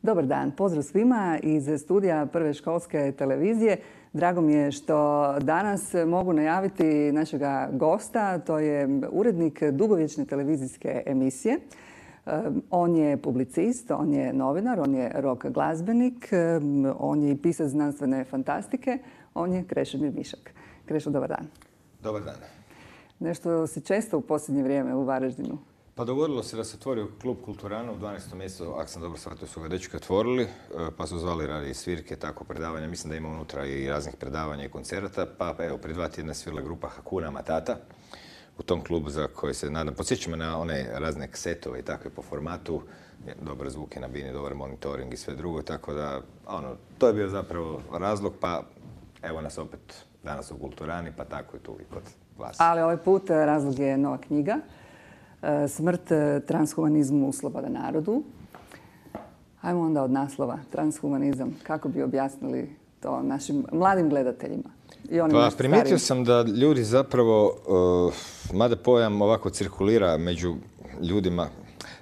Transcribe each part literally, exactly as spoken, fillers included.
Dobar dan, pozdrav svima iz studija Prve školske televizije. Drago mi je što danas mogu najaviti našega gosta, to je urednik dugovječne televizijske emisije. On je publicist, on je novinar, on je rock glazbenik, on je i pisac znanstvene fantastike, on je Krešimir Mišak. Krešo, dobar dan. Dobar dan. Nešto si često u posljednje vrijeme u Varaždinu? Pa dogodilo se da se otvorio klub Kulturana u dvanaestom mjesecu, ako sam dobro shvatio, su ga dečki otvorili, pa su zvali radi svirke, tako predavanja. Mislim da ima unutra i raznih predavanja i koncerata, pa evo, prije dva tjedna svirala grupa Hakuna Matata u tom klubu za koji se nadam. Podsjećamo na one razne setove i takve po formatu, dobar zvuk je na bini, dobar monitoring i sve drugo, tako da ono, to je bio zapravo razlog, pa evo nas opet danas u Kulturani, pa tako i tu i kod vas. Ali ovaj put razlog je nova knjiga. Smrt transhumanizmu sloboda narodu. Ajmo onda od naslova. Transhumanizam. Kako bi objasnili to našim mladim gledateljima? I onim pa primijetio sam da ljudi zapravo, uh, mada pojam ovako cirkulira među ljudima,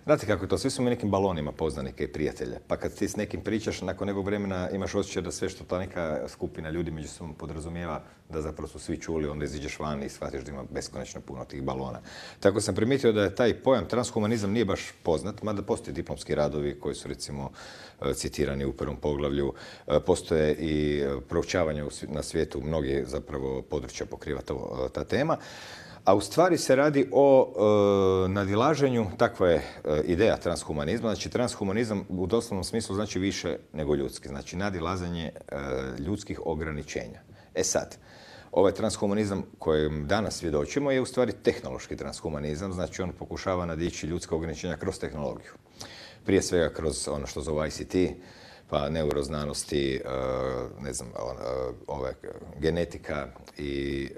znate kako je to, svi su mi nekim balonima poznanike i prijatelja. Pa kad ti s nekim pričaš, nakon nekog vremena imaš osjećaj da sve što ta neka skupina ljudi među sobom podrazumijeva, da zapravo su svi čuli, onda iziđeš van i shvatiš da ima beskonačno puno tih balona. Tako sam primijetio da je taj pojam transhumanizam nije baš poznat, mada postoje diplomski radovi koji su recimo citirani u prvom poglavlju. Postoje i proučavanje na svijetu, mnogi zapravo područja pokriva to, ta tema. A u stvari se radi o e, nadilaženju, takva je e, ideja transhumanizma. Znači, transhumanizam u doslovnom smislu znači više nego ljudski. Znači, nadilazanje e, ljudskih ograničenja. E sad, ovaj transhumanizam kojem danas svjedočimo je u stvari tehnološki transhumanizam. Znači, on pokušava nadići ljudska ograničenja kroz tehnologiju. Prije svega kroz ono što zove I C T, pa neuroznanosti, ne znam, ove, genetika i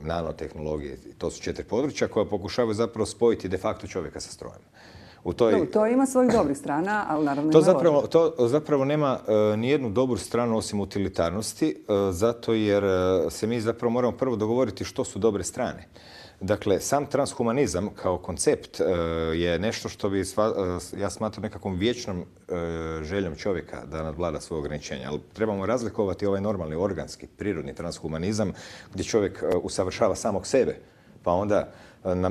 nanotehnologije. To su četiri područja koja pokušavaju zapravo spojiti de facto čovjeka sa strojem. U toj... no, to ima svojih dobrih strana, ali naravno to ima zapravo, to zapravo nema uh, nijednu dobru stranu osim utilitarnosti, uh, zato jer uh, se mi zapravo moramo prvo dogovoriti što su dobre strane. Dakle, sam transhumanizam kao koncept uh, je nešto što bi sva, uh, ja smatram nekakvom vječnom uh, željom čovjeka da nadvlada svoje ograničenja. Ali trebamo razlikovati ovaj normalni, organski, prirodni transhumanizam gdje čovjek uh, usavršava samog sebe, pa onda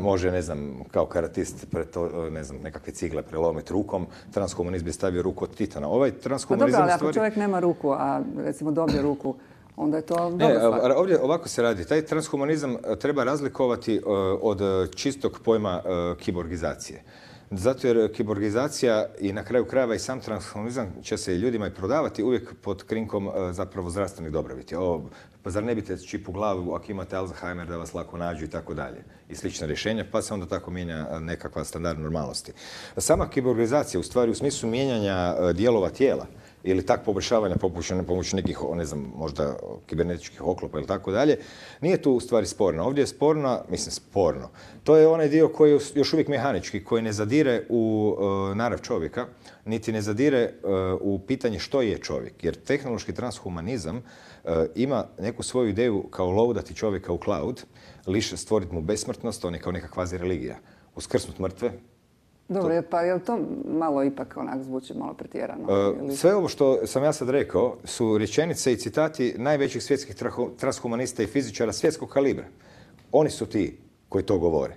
može, ne znam, kao karatist preto, ne znam, nekakve cigle prelomiti rukom, transhumanizam bi stavio ruku od titana. Ovaj transhumanizam... Pa dobro, ali stvari... ako čovjek nema ruku, a recimo dobije ruku, onda je to dobra stvar. Ovdje ovako se radi. Taj transhumanizam treba razlikovati od čistog pojma kiborgizacije. Zato jer kiborgizacija i na kraju krajeva i sam transhumanizam će se ljudima i prodavati uvijek pod krinkom zapravo zdravstvenih dobrobiti. Ovo, pa zar ne bite čip u glavu ako imate Alzheimer da vas lako nađu i tako dalje. I slična rješenja, pa se onda tako mijenja nekakva standard normalnosti. Sama kiborgizacija u stvari u smislu mijenjanja dijelova tijela ili tak poboljšavanja pomoću nekih, ne znam, možda kibernetičkih oklopa ili tako dalje, nije tu u stvari sporno. Ovdje je sporno, mislim sporno, to je onaj dio koji je još uvijek mehanički, koji ne zadire u uh, narav čovjeka, niti ne zadire uh, u pitanje što je čovjek. Jer tehnološki transhumanizam uh, ima neku svoju ideju kao loadati čovjeka u cloud, liš stvoriti mu besmrtnost, on je kao neka kvazi religija. Uskrsnut mrtve. Dobro, pa je li to malo ipak onak zvuči malo pretjerano? Uh, sve ovo što sam ja sad rekao su rečenice i citati najvećih svjetskih transhumanista i fizičara svjetskog kalibra. Oni su ti koji to govore.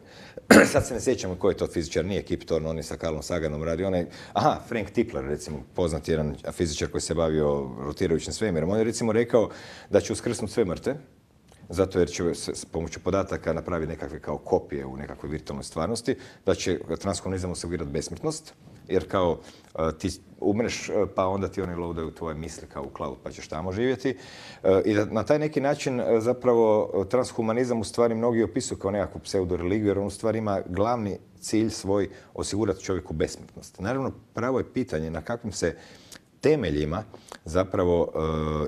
Sad se ne sjećamo koji je to fizičar, nije Kip Thorne, on je sa Carlom Saganom radi. On je, aha, Frank Tipler, recimo, poznat jedan fizičar koji se bavio rotirajućim svemirom. On je recimo rekao da će uskrsnuti sve mrtve, zato jer će s pomoću podataka napraviti nekakve kao kopije u nekakvoj virtualnoj stvarnosti, da će transhumanizam osigurati besmrtnost, jer kao ti umreš, pa onda ti oni loadaju tvoje misli kao u cloud, pa ćeš tamo živjeti. I da na taj neki način zapravo transhumanizam u stvari mnogi opisuju kao nekakvu pseudoreligiju, jer on u stvari ima glavni cilj svoj osigurati čovjeku besmrtnost. Naravno, pravo je pitanje na kakvim se temeljima zapravo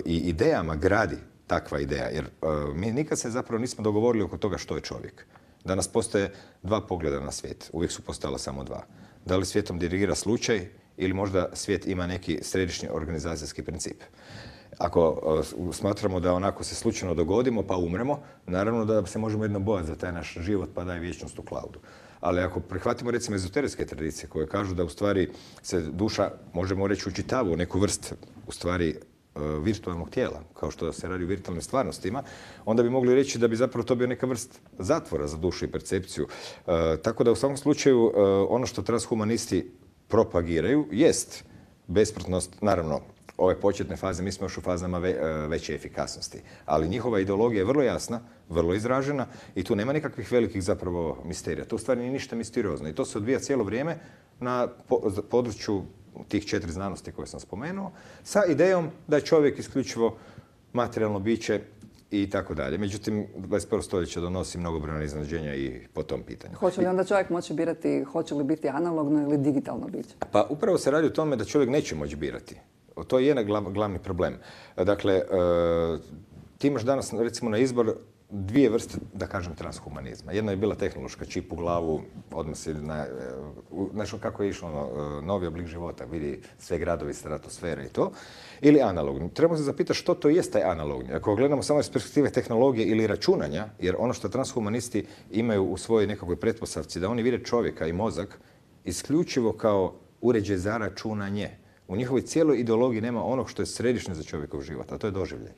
i idejama gradi takva ideja, jer uh, mi nikad se zapravo nismo dogovorili oko toga što je čovjek. Danas postoje dva pogleda na svijet, uvijek su postojala samo dva. Da li svijetom dirigira slučaj ili možda svijet ima neki središnji organizacijski princip. Ako uh, smatramo da onako se slučajno dogodimo pa umremo, naravno da se možemo jedno bojati za taj naš život pa daj vječnost u cloudu. Ali ako prihvatimo recimo ezoterijske tradicije koje kažu da u stvari se duša, možemo reći, učitava u neku vrst u stvari virtualnog tijela, kao što se radi u virtualnim stvarnostima, onda bi mogli reći da bi zapravo to bio neka vrst zatvora za dušu i percepciju. E, tako da u svakom slučaju e, ono što transhumanisti propagiraju jest besprtnost, naravno, ove početne faze, mi smo još u fazama ve, veće efikasnosti. Ali njihova ideologija je vrlo jasna, vrlo izražena i tu nema nikakvih velikih zapravo misterija. To u stvari nije ništa misteriozno i to se odvija cijelo vrijeme na području tih četiri znanosti koje sam spomenuo, sa idejom da je čovjek isključivo materijalno biće i tako dalje. Međutim, dvadeset prvo stoljeće donosi mnogobrojna iznenađenja i po tom pitanju. Hoće li onda čovjek moći birati hoće li biti analogno ili digitalno biće? Pa upravo se radi o tome da čovjek neće moći birati. To je jedan glavni problem. Dakle, ti imaš danas recimo na izbor dvije vrste, da kažem, transhumanizma. Jedna je bila tehnološka, čip u glavu, odmah se na, nešto kako je išlo, ono, novi oblik života, vidi sve gradovi, stratosfere i to. Ili analogni. Trebamo se zapitati što to jest taj analogni. Ako gledamo samo iz perspektive tehnologije ili računanja, jer ono što transhumanisti imaju u svojoj nekakvoj pretpostavci, da oni vide čovjeka i mozak isključivo kao uređaj za računanje. U njihovoj cijeloj ideologiji nema onog što je središnje za čovjekov život, a to je doživljaj.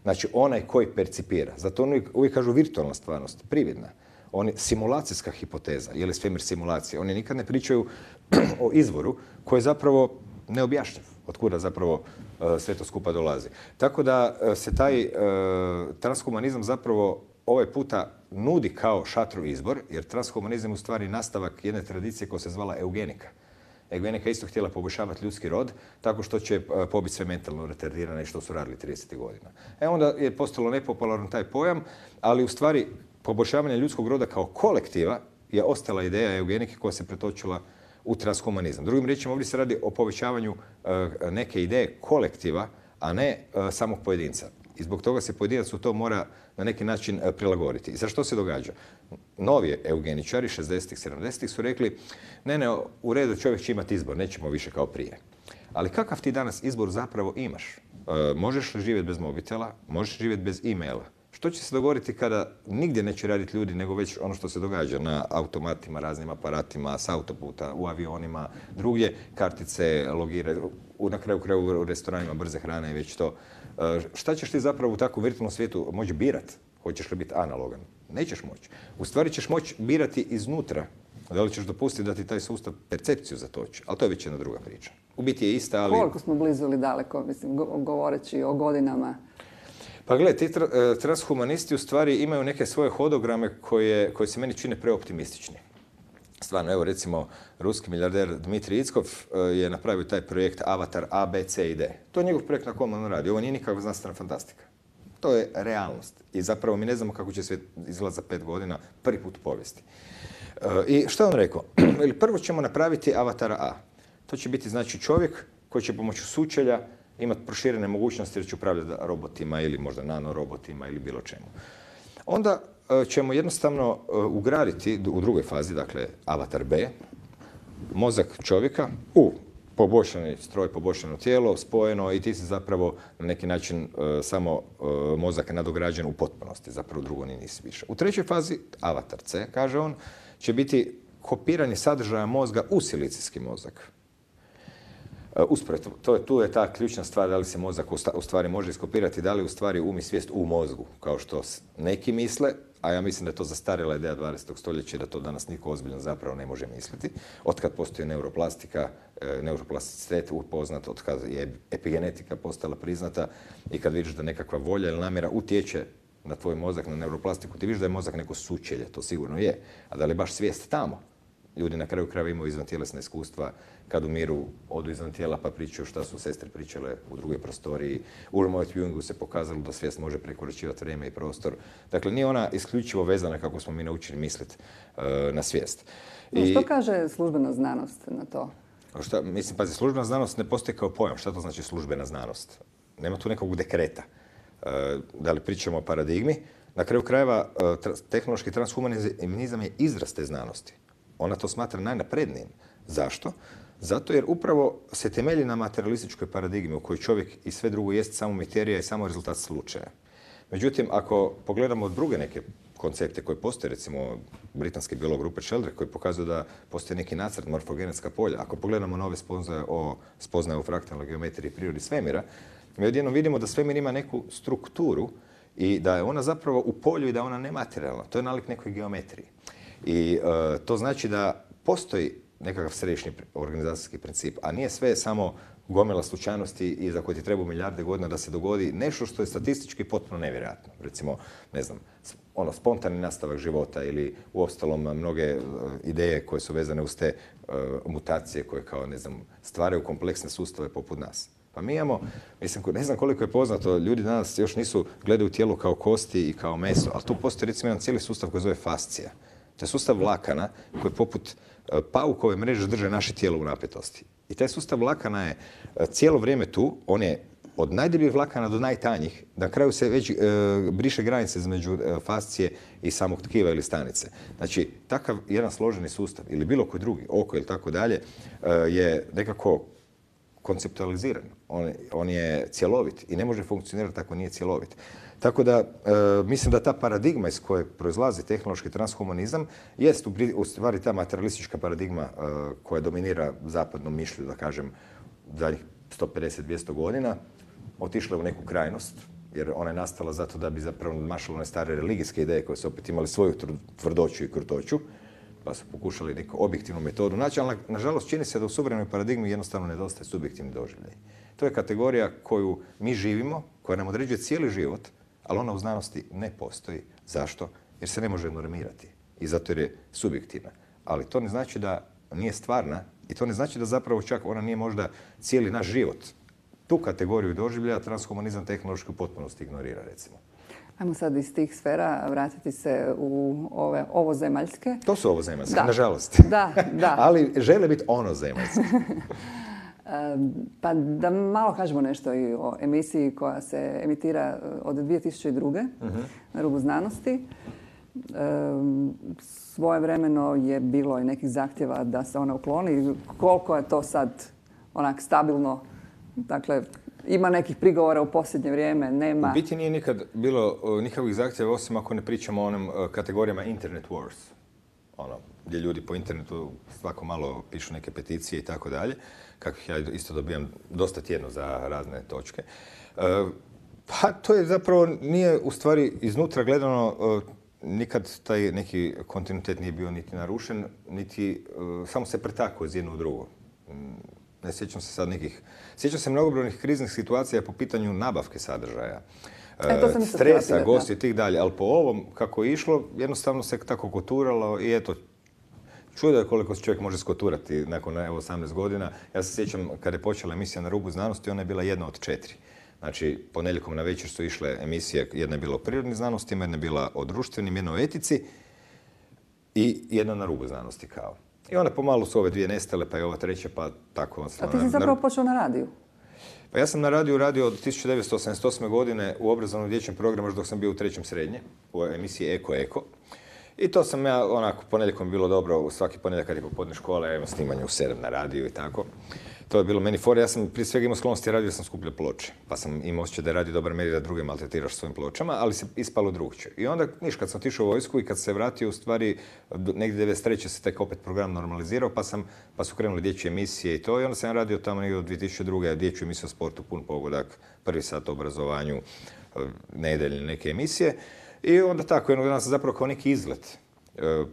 Znači, onaj koji percipira. Zato oni uvijek kažu virtualna stvarnost, prividna. Oni, simulacijska hipoteza, je li svemir simulacija. Oni nikad ne pričaju o izvoru koji je zapravo neobjašnjiv. Otkuda zapravo uh, sve to skupa dolazi. Tako da uh, se taj uh, transhumanizam zapravo ovaj puta nudi kao šatru izbor, jer transhumanizam je u stvari nastavak jedne tradicije koja se zvala eugenika. Eugenika isto htjela poboljšavati ljudski rod tako što će pobiti sve mentalno retardirane što su radili tridesetih godina. E onda je postalo nepopularan taj pojam, ali u stvari poboljšavanje ljudskog roda kao kolektiva je ostala ideja eugenike koja se pretočila u transhumanizam. Drugim riječima, ovdje se radi o povećavanju neke ideje kolektiva, a ne samog pojedinca. I zbog toga se pojedinac u to mora na neki način prilagoditi. I sad što se događa? Novi eugeničari šezdesetih, sedamdesetih su rekli ne, ne, u redu čovjek će imati izbor, nećemo više kao prije. Ali kakav ti danas izbor zapravo imaš? E, možeš li živjeti bez mobitela, možeš živjeti bez e-maila. Što će se dogoditi kada nigdje neće raditi ljudi, nego već ono što se događa na automatima, raznim aparatima, s autoputa, u avionima, drugdje, kartice, logire, na kraju kraju u restoranima brze hrane i već to. Šta ćeš ti zapravo u takvom virtualnom svijetu moći birati? Hoćeš li biti analogan? Nećeš moći. U stvari ćeš moći birati iznutra. Da li ćeš dopustiti da ti taj sustav percepciju zatoči? Ali to je već jedna druga priča. U biti je ista, ali... Koliko smo blizu ili daleko, mislim, govoreći o godinama? Pa gledaj, ti transhumanisti u stvari imaju neke svoje hodograme koje, koje se meni čine preoptimistični. Stvarno, evo recimo, ruski milijarder Dmitrij Ickov je napravio taj projekt Avatar A, B, C i D. To je njegov projekt na kojem on radi. Ovo nije nikakva znanstvena fantastika. To je realnost. I zapravo mi ne znamo kako će svijet izgledati za pet godina, prvi put u povijesti. I što je on rekao? Prvo ćemo napraviti Avatara A. To će biti znači čovjek koji će pomoću sučelja imati proširene mogućnosti jer će upravljati robotima ili možda nanorobotima ili bilo čemu. Onda ćemo jednostavno ugraditi u drugoj fazi, dakle Avatar B, mozak čovjeka u poboljšani stroj, poboljšano tijelo, spojeno i ti si zapravo na neki način samo mozak nadograđen u potpunosti, zapravo drugo ni nisi više. U trećoj fazi, Avatar C, kaže on, će biti kopiranje sadržaja mozga u silicijski mozak. Usporedno, to je, tu je ta ključna stvar da li se mozak u stvari može iskopirati, da li u stvari um i svijest u mozgu, kao što neki misle, a ja mislim da je to zastarjela ideja dvadesetog stoljeća i da to danas niko ozbiljno zapravo ne može misliti. Otkad postoji neuroplastika, neuroplasticitet upoznat, otkad je epigenetika postala priznata i kad vidiš da nekakva volja ili namjera utječe na tvoj mozak, na neuroplastiku, ti vidiš da je mozak neko sučelje, to sigurno je. A da li je baš svijest tamo? Ljudi na kraju krajeva imaju izvantjelesna iskustva kad umiru, odu izvan tijela pa pričaju šta su sestre pričale u drugoj prostoriji. U Urmovat Jungu se pokazalo da svijest može prekoračivati vrijeme i prostor. Dakle, nije ona isključivo vezana kako smo mi naučili misliti na svijest. No, što I... kaže službena znanost na to? Šta, mislim, pazi, službena znanost ne postoji kao pojam. Šta to znači službena znanost? Nema tu nekog dekreta. Da li pričamo o paradigmi? Na kraju krajeva, tehnološki transhumanizam je izraz te znanosti. Ona to smatra najnaprednijim. Zašto? Zato jer upravo se temelji na materialističkoj paradigmi u kojoj čovjek i sve drugo jest samo materija i samo rezultat slučaja. Međutim, ako pogledamo druge neke koncepte koji postoje, recimo britanski biolog Rupert Sheldrake koji pokazuje da postoji neki nacrt morfogenetska polja. Ako pogledamo nove spoznaje o, spoznaje o fraktalnoj geometriji prirodi svemira, mi odjednom vidimo da svemir ima neku strukturu i da je ona zapravo u polju i da ona nematerijalna. To je nalik nekoj geometriji. I e, to znači da postoji nekakav središnji organizacijski princip, a nije sve samo gomila slučajnosti i za koje ti treba milijarde godina da se dogodi nešto što je statistički potpuno nevjerojatno. Recimo, ne znam, ono, spontani nastavak života ili u ostalom mnoge uh, ideje koje su vezane uz te uh, mutacije koje kao, ne znam, stvaraju kompleksne sustave poput nas. Pa mi imamo, mislim, ne znam koliko je poznato, ljudi danas još nisu gledaju tijelo kao kosti i kao meso, ali tu postoji recimo jedan cijeli sustav koji zove fascija. To je sustav vlakana koji poput paukove mreže drže naše tijelo u napetosti. I taj sustav vlakana je cijelo vrijeme tu, on je od najdebljih vlakana do najtanjih, na kraju se već e, briše granice između e, fascije i samog tkiva ili stanice. Znači, takav jedan složeni sustav ili bilo koji drugi, oko ili tako dalje, e, je nekako konceptualiziran. On, on je cjelovit i ne može funkcionirati ako nije cjelovit. Tako da, e, mislim da ta paradigma iz koje proizlazi tehnološki transhumanizam jest u, u stvari ta materialistička paradigma e, koja dominira zapadnom mišlju, da kažem, zadnjih sto pedeset do dvjesto godina, otišla u neku krajnost, jer ona je nastala zato da bi zapravo nadmašala one stare religijske ideje koje su opet imali svoju tvrdoću i krutoću, pa su pokušali neku objektivnu metodu naći, ali nažalost čini se da u suvremenoj paradigmi jednostavno nedostaje subjektivni doživljaj. To je kategorija koju mi živimo, koja nam određuje cijeli život, ali ona u znanosti ne postoji. Zašto? Jer se ne može normirati. I zato jer je subjektivna. Ali to ne znači da nije stvarna i to ne znači da zapravo čak ona nije možda cijeli naš život. Tu kategoriju doživljaja transhumanizam tehnološki u potpunosti ignorira, recimo. Ajmo sad iz tih sfera vratiti se u ove ovozemaljske. To su ovozemaljske, da. Nažalost. Da, da. Ali žele biti onozemaljske. Pa da malo kažemo nešto i o emisiji koja se emitira od dvije tisuće druge. Uh-huh. na Rubu znanosti. Svojevremeno je bilo i nekih zahtjeva da se ona ukloni. Koliko je to sad onak stabilno? Dakle, ima nekih prigovora u posljednje vrijeme, nema. U biti nije nikad bilo nikakvih zahtjeva, osim ako ne pričamo o onim kategorijama Internet Wars. Ono, gdje ljudi po internetu svako malo pišu neke peticije i tako dalje, kakvih ja isto dobijam dosta tjedno za razne točke. Pa to je zapravo, nije u stvari iznutra gledano, nikad taj neki kontinuitet nije bio niti narušen, niti samo se pretakao iz jedno u drugo. Ne sjećam se sad nekih, sjećam se mnogobrojnih kriznih situacija po pitanju nabavke sadržaja. E, stresa, gosti i tih dalje, ali po ovom kako je išlo, jednostavno se tako koturalo i eto, čudo je koliko se čovjek može skoturati nakon evo, osamnaest godina. Ja se sjećam kada je počela emisija Na rubu znanosti, ona je bila jedna od četiri. Znači, ponedjeljkom na večer su išle emisije, jedna je bila o prirodnim znanostima, jedna je bila o društvenim, jedna o etici i jedna na rubu znanosti kao. I onda pomalo su ove dvije nestale, pa je ova treća, pa tako. A ti si zapravo počeo na radiju? Pa ja sam na radiju radio od tisuću devetsto osamdeset osme. godine u obrazovnom dječjem programu dok sam bio u trećem srednje, u emisiji Eko Eko. I to sam ja, onako, ponedjeljkom bilo dobro, svaki ponedjeljak kad je popodne škola, ja imam snimanje u sedam na radiju i tako. To je bilo meni fora. Ja sam prije svega imao sklonosti radio, sam skupljao ploče. Pa sam imao osjećaj da je radio dobar meri da druge maltretiraš svojim pločama, ali se ispalo drugčije. I onda, niš, kad sam otišao u vojsku i kad se vratio, u stvari, negdje devedeset treće se tek opet program normalizirao, pa, sam, pa su krenuli dječje emisije i to. I onda sam radio tamo negdje od dvije tisuće druge. dječju emisiju o sportu, pun pogodak, prvi sat o obrazovanju, nedeljne neke emisije. I onda tako, jednog dana sam zapravo kao neki izlet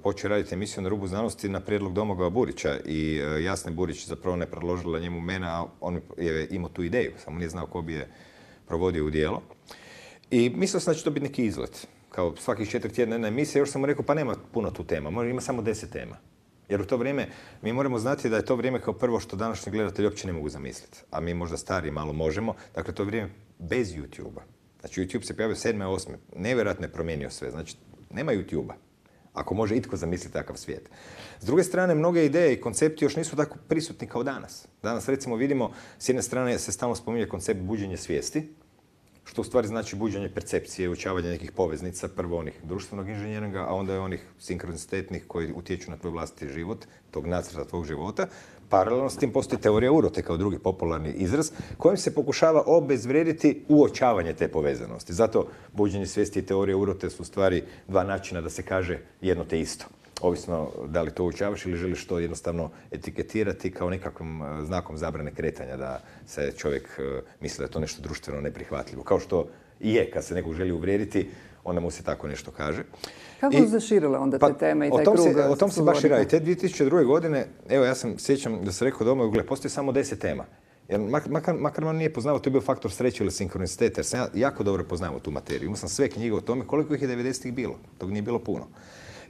počeo raditi emisiju Na rubu znanosti na prijedlog Domagoja Burića i Jasne Burić zapravo ne predložila njemu mene, a on je imao tu ideju, samo nije znao ko bi je provodio u djelo. I mislio sam da će to biti neki izlet. Kao svakih četiri tjedna jedna emisija, još sam mu rekao pa nema puno tu tema, ima samo deset tema. Jer u to vrijeme mi moramo znati da je to vrijeme kao prvo što današnji gledatelji uopće ne mogu zamisliti, a mi možda stari malo možemo. Dakle, to je vrijeme bez YouTube-a. Znači, YouTube se pojavio sedme, osme. Nevjerojatno je promijenio sve. Znači, nema YouTube-a. Ako može itko zamisliti takav svijet. S druge strane, mnoge ideje i koncepti još nisu tako prisutni kao danas. Danas, recimo, vidimo, s jedne strane se stalno spominje koncept buđenja svijesti što u stvari znači buđenje percepcije, učavanje nekih poveznica, prvo onih društvenog inženjeringa, a onda i onih sinkronitetnih koji utječu na tvoj vlastiti život, tog nacrta tvog života. Paralelno s tim postoji teorija urote kao drugi popularni izraz kojim se pokušava obezvrijediti uočavanje te povezanosti. Zato buđenje svijesti i teorija urote su u stvari dva načina da se kaže jedno te isto. Ovisno da li to uočavaš ili želiš to jednostavno etiketirati kao nekakvim znakom zabrane kretanja, da se čovjek misli da je to nešto društveno neprihvatljivo. Kao što i je, kad se nekog želi uvrijediti, onda mu se tako nešto kaže. Kako su zaširile onda te teme i taj krug? O tom se baš i radi. Te dvije tisuće druge. godine, evo ja sam sjećam da sam rekao doma, gle, postoji samo deset tema. Jer makar, makar man nije poznao, to je bio faktor sreće ili sinkronicitet, jer sam ja jako dobro poznavao tu materiju. Imao sam sve knjige o tome, koliko ih je devedesetih bilo. Tog nije bilo puno.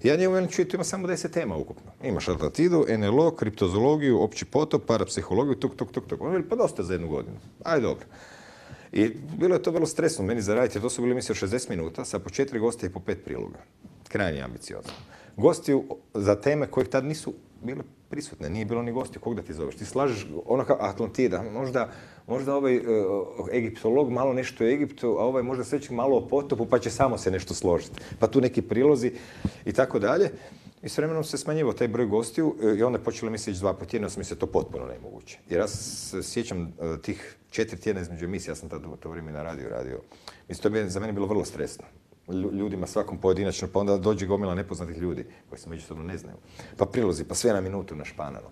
Ja njemu jedan čujem, ima samo deset tema ukupno. Imaš Atlantidu, en el o, kriptozoologiju, opći potop, parapsihologiju, tuk, tuk, tuk, tuk. On veli, pa dosta za jednu godinu. Aj, dobro. I bilo je to vrlo stresno meni za raditi, jer to su bili emisije od šezdeset minuta, sa po četiri gosta i po pet priloga. Krajnje ambiciozno. Gosti za teme kojih tad nisu bile prisutne, nije bilo ni gosti, kog da ti zoveš. Ti slažeš ono kao Atlantida, možda, možda ovaj uh, egiptolog malo nešto o Egiptu, a ovaj možda sve će malo o potopu, pa će samo se nešto složiti. Pa tu neki prilozi i tako dalje. I s vremenom se smanjivao taj broj gostiju i onda je počelo emisije dva po tjednu, mi se to potpuno nemoguće. Jer ja se sjećam uh, tih četiri tjedna između emisije, ja sam tada u to vrijeme na radiju radio. Mislim, to je za mene bilo vrlo stresno. Ljudima svakom pojedinačno, pa onda dođe gomila nepoznatih ljudi koji se međusobno ne znaju. Pa prilozi, pa sve na minutu našpanano.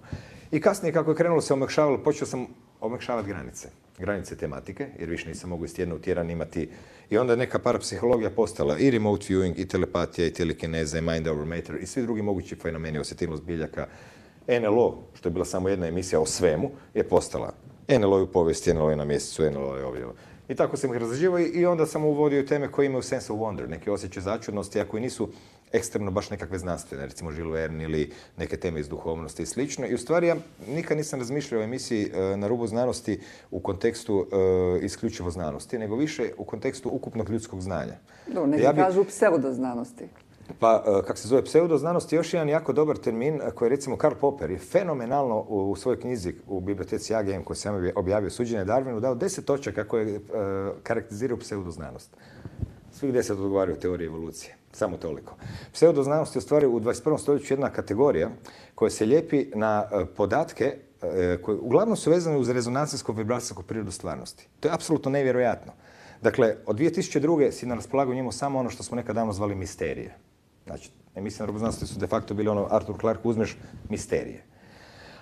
I kasnije kako je krenulo se omekšavalo, počeo sam omekšavati granice. Granice tematike, jer više nisam mogu iz tjedna u tjedan imati. I onda je neka parapsihologija postala i remote viewing, i telepatija, i telekineza, i mind over matter, i svi drugi mogući fenomeni, osjetilnost biljaka. en el o, što je bila samo jedna emisija o svemu, je postala. en el o je u povijesti, en el o je na mjesecu, en el o je ovdje. I tako sam ih razrađivao i onda sam uvodio teme koje imaju sense of wonder, neke osjećaje začudnosti, a koji nisu ekstremno baš nekakve znanstvene, recimo Jules Verne ili neke teme iz duhovnosti i slično. I u stvari ja nikad nisam razmišljao o emisiji uh, na rubu znanosti u kontekstu uh, isključivo znanosti, nego više u kontekstu ukupnog ljudskog znanja. Do, neki ja bi... kažu pseudoznanosti. Pa, kako se zove pseudoznanost, je još jedan jako dobar termin koji recimo Karl Popper je fenomenalno u svojoj knjizi u biblioteci A G M koju sam objavio Suđenje Darwinu dao deset točaka koje karakteriziraju pseudoznanost. Svih deset odgovaraju teoriji evolucije. Samo toliko. Pseudoznanost je u stvari u dvadeset prvom stoljeću jedna kategorija koja se lijepi na podatke koje uglavnom su vezane uz rezonancijsko-vibracijsku prirodu stvarnosti. To je apsolutno nevjerojatno. Dakle, od dvije tisuće druge si na raspolaganju imao samo ono što smo nekad davno zvali misterije. Znači, emisije na rubu znanosti su de facto bili ono Arthur Clarke, uzmeš misterije.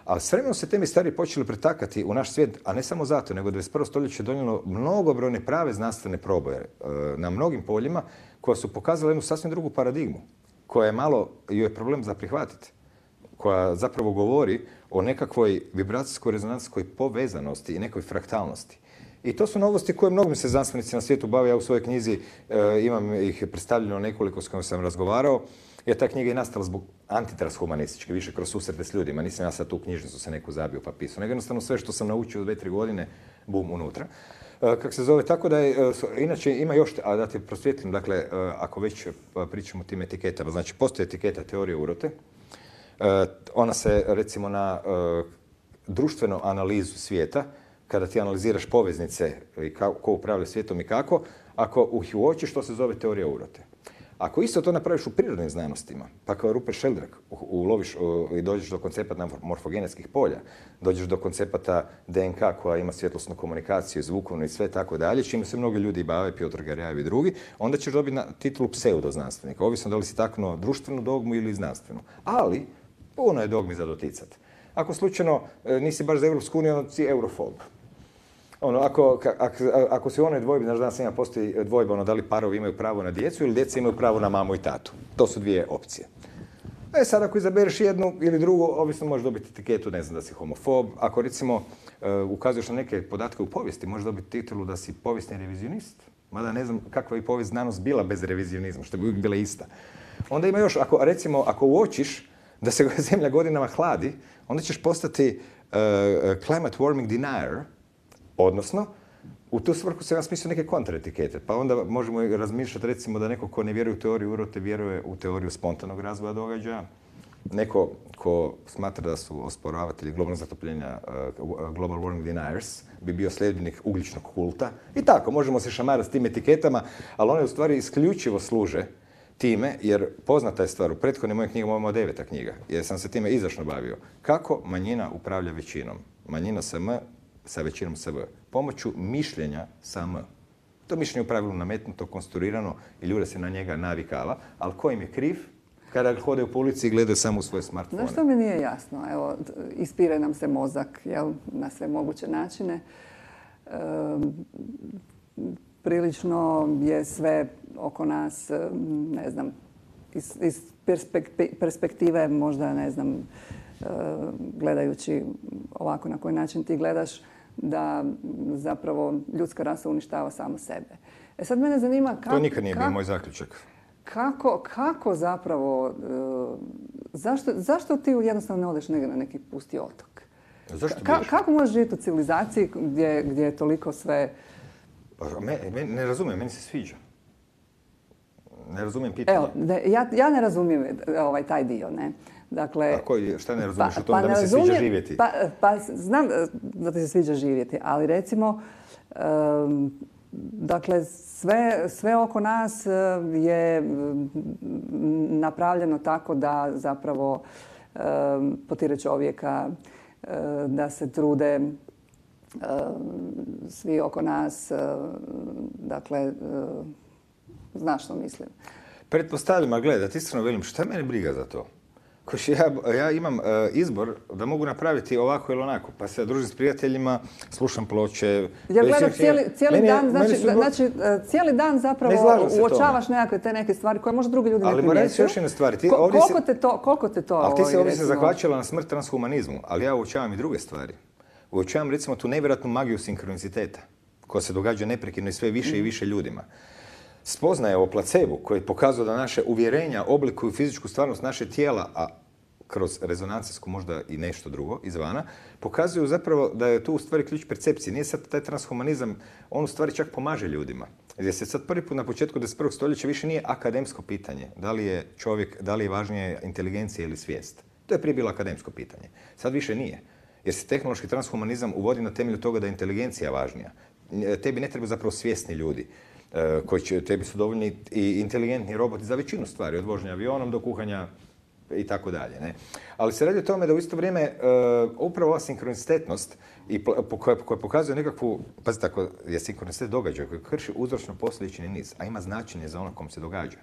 A s vremenom se te misterije počeli pretakati u naš svijet, a ne samo zato, nego dvadeset prvo stoljeće je donijelo mnogobrojne prave znanstvene proboje na mnogim poljima koja su pokazala jednu sasvim drugu paradigmu, koja je malo, joj je problem za prihvatiti, koja zapravo govori o nekakvoj vibracijskoj rezonancijskoj povezanosti i nekoj fraktalnosti. I to su novosti koje mnogim se znanstvenici na svijetu bave. Ja u svojoj knjizi e, imam ih predstavljeno nekoliko s kojima sam razgovarao. Jer ta knjiga je nastala zbog antitranshumanističke, više kroz susrete s ljudima. Nisam ja sad tu knjižnicu se neku zabio pa pisao. Nego jednostavno sve što sam naučio u dve, tri godine, bum, unutra. E, kako se zove, tako da je, e, inače ima još, a da te prosvjetlim, dakle, e, ako već pričamo o tim etiketama, znači postoji etiketa teorije urote. E, ona se, recimo, na e, društvenu analizu svijeta, kada ti analiziraš poveznice i ko upravlja svijetom i kako, ako ih uočiš, to se zove teorija urote. Ako isto to napraviš u prirodnim znanostima, pa kao Rupert Sheldrake uloviš i dođeš do koncepata morfogenetskih polja, dođeš do koncepata D N K koja ima svjetlosnu komunikaciju, zvukovnu i sve tako dalje, čime se mnogi ljudi bave, Piotr Garjajev i drugi, onda ćeš dobiti na titulu pseudoznanstvenika, ovisno da li si taknuo društvenu dogmu ili znanstvenu. Ali, puno je dogmi za doticati. Ako slučajno nisi baš za Europsku uniju, onda si eurofob. Ono, ako, ako, ako si u onoj dvojbi, znaš, danas ima postoji dvojba, ono, da li parovi imaju pravo na djecu ili djeca imaju pravo na mamu i tatu. To su dvije opcije. E sad, ako izabereš jednu ili drugu, ovisno možeš dobiti etiketu, ne znam, da si homofob. Ako, recimo, uh, ukazuješ na neke podatke u povijesti, možeš dobiti titulu da si povijesni revizionist. Mada ne znam kakva je povijest znanost bila bez revizionizma, što bi uvijek bila ista. Onda ima još, ako, recimo, ako uočiš da se zemlja godinama hladi, onda ćeš postati uh, climate warming denier. Odnosno, u tu svrhu se ja smislio neke kontraetikete. Pa onda možemo razmišljati recimo da neko ko ne vjeruje u teoriju urote vjeruje u teoriju spontanog razvoja događaja. neko ko smatra da su osporavatelji globalnog zatopljenja, uh, global warming deniers, bi bio sljedbenik ugljičnog kulta. I tako, možemo se šamarati s tim etiketama, ali one u stvari isključivo služe time, jer poznata je stvar, u prethodnim mojim knjigama imamo deveta knjiga, jer sam se time izdašno bavio. Kako manjina upravlja većinom? Manjina sa M, sa većinom sa V. Pomoću mišljenja sa M. To mišljenje je u pravilu nametnuto, konstruirano i ljude se na njega navikava, ali ko im je kriv? Kada hodaju po ulici i gledaju samo u svoje smartfone. Znaš što mi nije jasno? Evo, ispire nam se mozak, jel, na sve moguće načine. E, prilično je sve oko nas, ne znam, iz, iz perspektive možda, ne znam, e, gledajući ovako na koji način ti gledaš, da zapravo ljudska rasa uništava samo sebe. E sad mene zanima kako... To nikad nije bio moj zaključak. Kako, kako zapravo, zašto, zašto ti jednostavno ne odeš negdje na neki pusti otok? Zašto Ka, kako možeš živjeti u civilizaciji gdje, gdje je toliko sve... Me, me, ne razumijem, meni se sviđa. Ne razumijem pitanje. Evo, ne, ja, ja ne razumijem ovaj, taj dio, ne. Dakle, a koji, šta ne razumiješ pa, u tome pa da mi se razumijem, sviđa živjeti? Pa, pa znam da ti se sviđa živjeti, ali recimo, um, dakle, sve, sve oko nas je napravljeno tako da zapravo um, potire čovjeka, um, da se trude um, svi oko nas, um, dakle, um, znaš što mislim. Pretpostavljam, a gledaj, da ti iskreno velim, šta mene briga za to? Koš ja, ja imam uh, izbor da mogu napraviti ovako ili onako, pa se družim s prijateljima, slušam ploče. Ja gledam cijeli, cijeli meni, dan, znači, su... znači cijeli dan zapravo uočavaš nekakve te neke stvari koje možda drugi ljudi ne primjećuju. Ali moram reći još jedne stvari. Ti Ko, ovdje koliko, si... te to, koliko te to... Ali ti se ovdje se recimo... zahvaćala na smrt transhumanizmu, ali ja uočavam i druge stvari. Uočavam recimo tu nevjerojatnu magiju sinkroniciteta koja se događa neprekidno i sve više mm. i više ljudima. Spoznaje o placebu koji pokazuje da naše uvjerenja oblikuju fizičku stvarnost naše tijela, a kroz rezonancijsku možda i nešto drugo izvana, pokazuju zapravo da je tu u stvari ključ percepcije. Nije sad taj transhumanizam, on u stvari čak pomaže ljudima. Jer se sad prvi put na početku dvadeset prvog stoljeća više nije akademsko pitanje. Da li je čovjek, da li je važnije inteligencija ili svijest. To je prije bilo akademsko pitanje. Sad više nije. Jer se tehnološki transhumanizam uvodi na temelju toga da je inteligencija važnija. Tebi ne treba zapravo svjesni ljudi koji će, tebi su dovoljni i inteligentni roboti za većinu stvari, od vožnja avionom do kuhanja i tako dalje. Ne? Ali se radi o tome da u isto vrijeme uh, upravo ova sinkronicitetnost i po, koja, koja pokazuje nekakvu, pazite, ako je sinkronicitet događaj koji krši uzročno-posljedični niz, a ima značenje za ono kom se događa.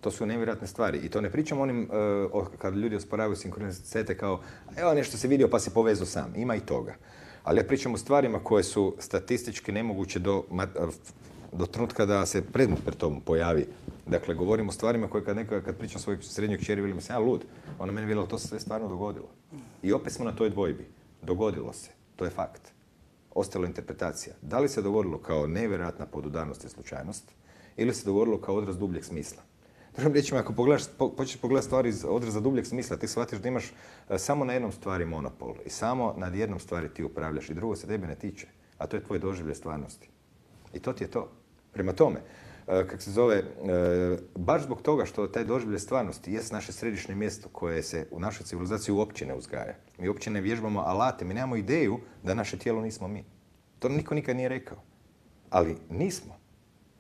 To su nevjerojatne stvari. I to ne pričam onim uh, kad ljudi osporavaju sinkronicitete kao evo nešto se vidio pa se povezao sam. Ima i toga. Ali ja pričam o stvarima koje su statistički nemoguće do, do trenutka da se predmet pred tom pojavi. Dakle, govorim o stvarima koje kad, neka, kad pričam svojoj srednjoj kćeri, velim se, ja lud. Ona meni vela, to se sve stvarno dogodilo. I opet smo na toj dvojbi. Dogodilo se. To je fakt. Ostala interpretacija. Da li se dogodilo kao nevjerojatna podudarnost i slučajnost ili se dogodilo kao odraz dubljeg smisla? Drugim riječima, ako pogledaš, po, počneš pogledati stvari iz odraza dubljeg smisla, ti shvatiš da imaš uh, samo na jednom stvari monopol i samo nad jednom stvari ti upravljaš i drugo se tebe ne tiče, a to je tvoj doživljaj stvarnosti. I to ti je to. Prema tome, uh, kak se zove, uh, baš zbog toga što taj doživljaj stvarnosti jest naše središnje mjesto koje se u našoj civilizaciji uopće ne uzgaja. Mi uopće ne vježbamo alate, mi nemamo ideju da naše tijelo nismo mi. To niko nikad nije rekao. Ali nismo.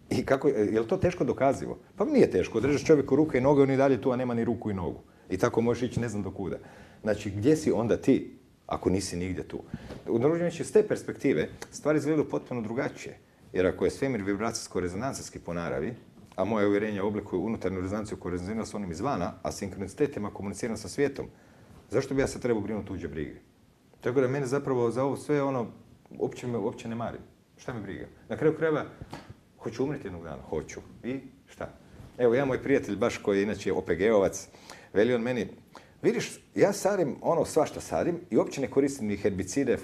I kako, je li to teško dokazivo? Pa nije teško. Odrežeš čovjeku ruke i noge, on i dalje tu, a nema ni ruku i nogu. I tako možeš ići ne znam do kuda. Znači, gdje si onda ti, ako nisi nigdje tu? U družnjeći, s te perspektive stvari izgledaju potpuno drugačije. Jer ako je svemir vibracijsko-rezonancijski po naravi, a moje uvjerenja oblikuju unutarnju rezonanciju koja rezonira s onim izvana, a sinkronicitetima komuniciram sa svijetom, zašto bi ja sad trebao brinuti tuđe brige? Tako da mene zapravo za ovo sve ono, uopće, me, uopće ne marim. Šta mi briga? Na kraju krajeva, hoću umriti jednog dana? Hoću. I šta? Evo, ja moj prijatelj, baš koji je inače O P G-ovac, veli on meni, vidiš, ja sadim ono svašta sadim i uopće ne koristim ni herbicide,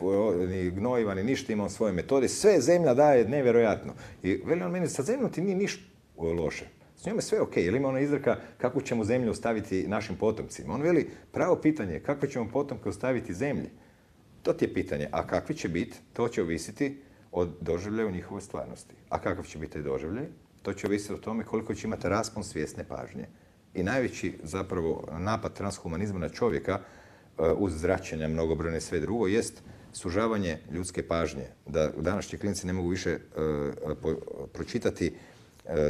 ni gnojiva, ni ništa, imam svoje metode. Sve zemlja daje nevjerojatno. I veli on meni, sa zemljom ti nije ništa loše. S njome sve ok. Jer ima ona izreka kako ćemo zemlju ostaviti našim potomcima. On veli, pravo pitanje je kakve ćemo potomke ostaviti zemlji. To ti je pitanje. A kakvi će biti, to će ovisiti od doživljaja u njihovoj stvarnosti. A kakav će biti taj doživljaj? To će ovisiti o tome koliko će imati raspon svjesne pažnje. i najveći zapravo napad transhumanizma na čovjeka uz zračenja mnogobrojne i sve drugo jest sužavanje ljudske pažnje. Da današnji klinci ne mogu više pročitati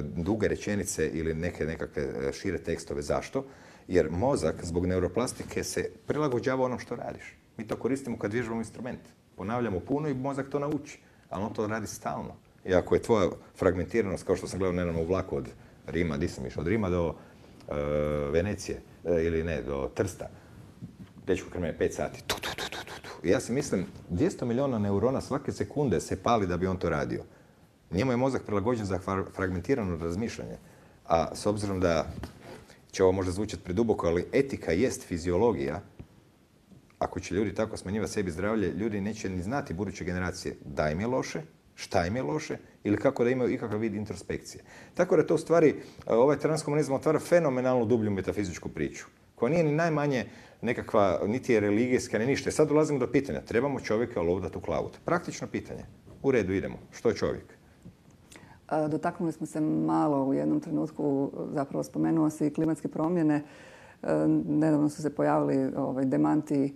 duge rečenice ili neke nekakve šire tekstove. Zašto? Jer mozak zbog neuroplastike se prilagođava onom što radiš. Mi to koristimo kad vježbamo instrument. Ponavljamo puno i mozak to nauči, ali on to radi stalno. I ako je tvoja fragmentiranost, kao što sam gledao nedavno u vlaku od Rima, di sam išao, od Rima do uh, Venecije, uh, ili ne, do Trsta, dečko krme pet sati. Tu, tu, tu, tu, tu. I ja si mislim, dvjesto milijuna neurona svake sekunde se pali da bi on to radio. Njemu je mozak prilagođen za fragmentirano razmišljanje. A s obzirom da će ovo možda zvučati preduboko, ali etika jest fiziologija. Ako će ljudi tako smanjivati sebi zdravlje, ljudi neće ni znati buduće generacije da im je loše, šta im je loše ili kako da imaju ikakav vid introspekcije. Tako da to u stvari, ovaj transhumanizam otvara fenomenalnu dublju metafizičku priču, koja nije ni najmanje nekakva, niti je religijska, ni ništa. Sad dolazimo do pitanja, trebamo čovjeka lovdati u klavut. Praktično pitanje. U redu, idemo. Što je čovjek? Dotaknuli smo se malo u jednom trenutku, zapravo spomenuo se i klimatske promjene. Nedavno su se pojavili ovaj, demanti,